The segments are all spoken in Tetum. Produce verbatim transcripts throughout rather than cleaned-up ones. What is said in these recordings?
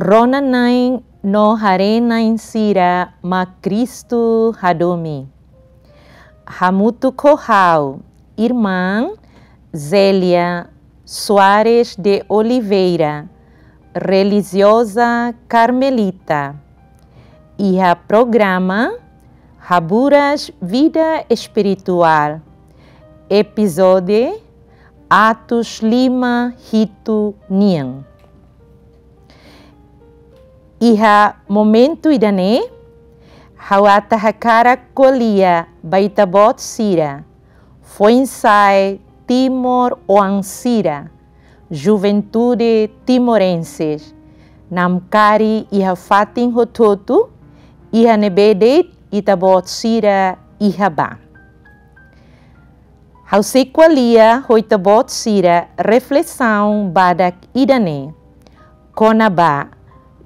Rona-na'in no haree-na'in sira mak Kristu hadomi. Hamutuk ho ha'u, irmán Zélia Soares de Oliveira, relijioza karmelita, iha programa Haburas Vida Espirituál, epizódiu atus lima hitu nian. Iha momentu ida-ne'e, ha'u ata hakarak ko'alia ba ita-boot sira, foin-sa'e timoroan sira, juventude timorense, namkari iha fatin hotu-hotu, iha ne'ebé de'it ita-boot sira iha ba. Ha'u sei ko'alia ho ita-boot sira reflesaun badak ida-ne'e, kona-ba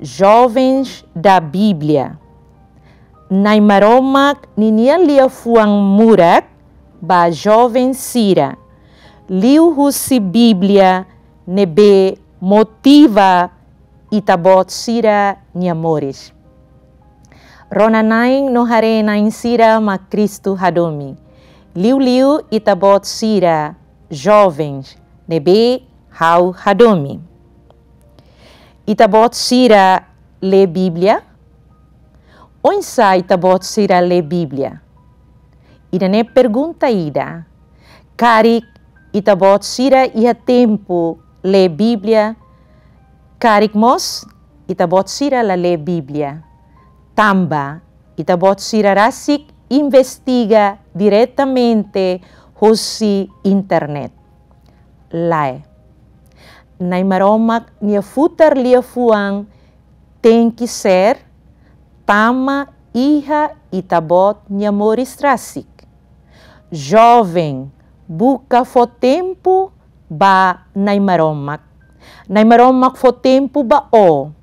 Jovens da Bíblia. Na'i Maromak ninia liafuan murak ba joven sira, liuhusi Bíblia ne'ebé motiva ita-boot sira-nia moris. Rona-na'in no haree-na'in sira mak Kristu hadomi. Liuliu ita-boot sira jovens ne'ebé ha'u hadomi. Ita-boot sira lee Bíblia? Oinsá ita-boot sira lee Bíblia? Ida-ne'e pergunta ida. Karik ita-boot sira iha tempu lee Bíblia, karik mós ita-boot sira la lee Bíblia. Tanba ita-boot sira rasik investiga diretamente hosi internet. Lae. Na'i Maromak nia futar liafuan tenke ser tama iha ita-boot nia moris rasik. Joven, buka fó tempu ba Na'i Maromak. Na'i Maromak fó tempu ba ó.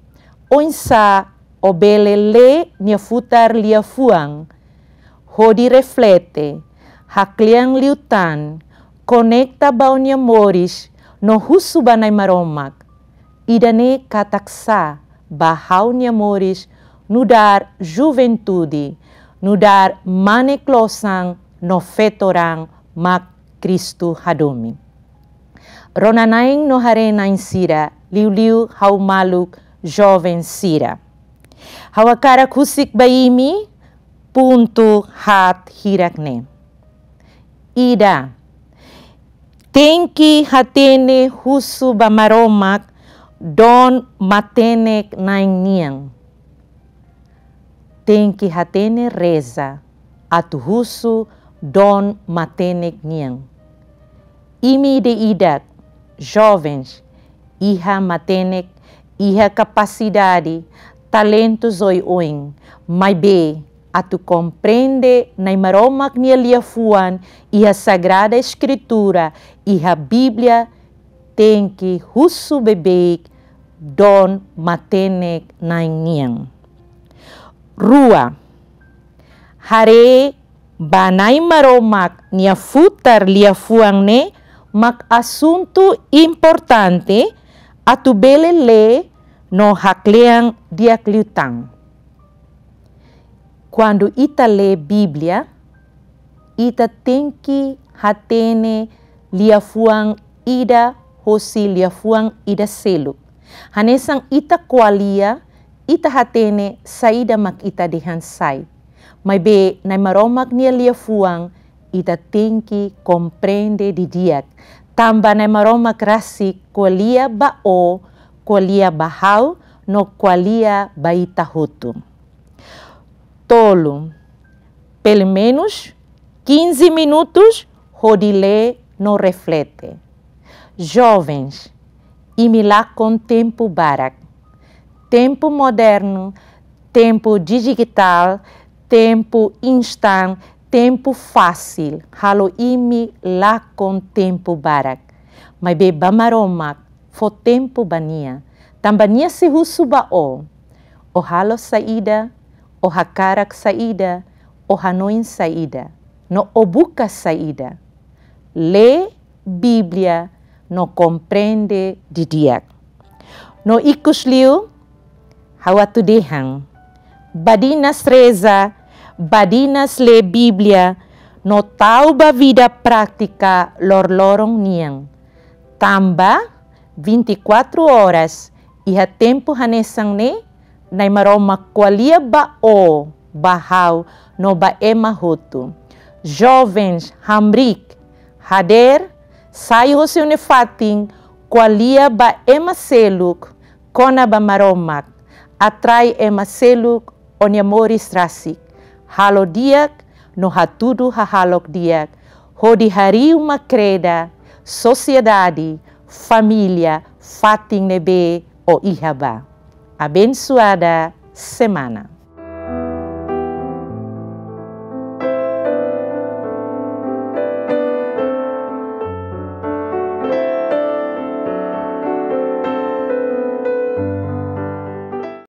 Oinsá ó bele lee nia futar liafuan, hodi reflete, haklean liután, konekta ba ó-nia moris, no husu ba Na'i Maromak: Ida-ne'e katak sá ba ha'u-nia moris nu'udar juventude, nu'udar mane klosan no feto-raan mak Kristu hadomi? Rona-na'in no haree-na'in sira, liuliu ha'u maluk joven sira. Ha'u hakarak husik ba imi pontu haat hirak-ne'e. Ida, tenke hatene husu ba Maromak dom matenek-na'in nian. Tenke hatene reza atu husu dom matenek nian. Imi ida-idak, jovens, iha matenek, iha kapasidade, talentus oioin, maibé atu komprende Na'i Maromak nia liafuan iha Sagrada Eskritura, iha Bíblia, tenke husu beibeik dom matenek-na'in nian. Rua, haree ba Na'i Maromak nia futar liafuan ne'e mak asuntu importante atu bele lee no haklean di'ak liután. Kuandu ita lee Bíblia, ita tenke hatene liafuan ida hosi liafuan ida seluk. Hanesan ita ko'alia, ita hatene saida mak ita dehan sai. Maibé Na'i Maromak nia liafuan, ita tenke komprende didi'ak. Tanba Na'i Maromak rasik ko'alia ba ó, ko'alia ba ha'u, no ko'alia ba ita hotu. Tolu, pelumenus quinze minutos hodi lee no reflete. Jovens, imi lakon tempu barak. Tempu modernu, tempu dijitál, tempu instan, tempu fasil, halo imi lakon tempu barak. Maibé ba Maromak, fó tempu ba nia. Tanba nia sei husu ba ó. Ó halo saida, ó hakarak saida, ó hanoin saida, no ó buka saida. Lee Bíblia no komprende didi'ak. No ikusliu, Ha'u atu dehan, badinas reza, badinas lee Bíblia, no tau ba vida prátika loroloron nian. Tanba vinte e quatro horas iha tempu hanesan ne'e, Na'i Maromak ko'alia ba ó, ba ha'u, no ba ema hotu. Jovens, hamriik, hadeer, sai husi ó-nia fatin, ko'alia ba ema seluk kona-ba Maromak, atrai ema seluk ó-nia moris rasik, halo di'ak no hatudu hahalok di'ak, hodi harii uma-kreda, sosiedade, família, fatin ne'ebé ó iha ba. Abensoada semana.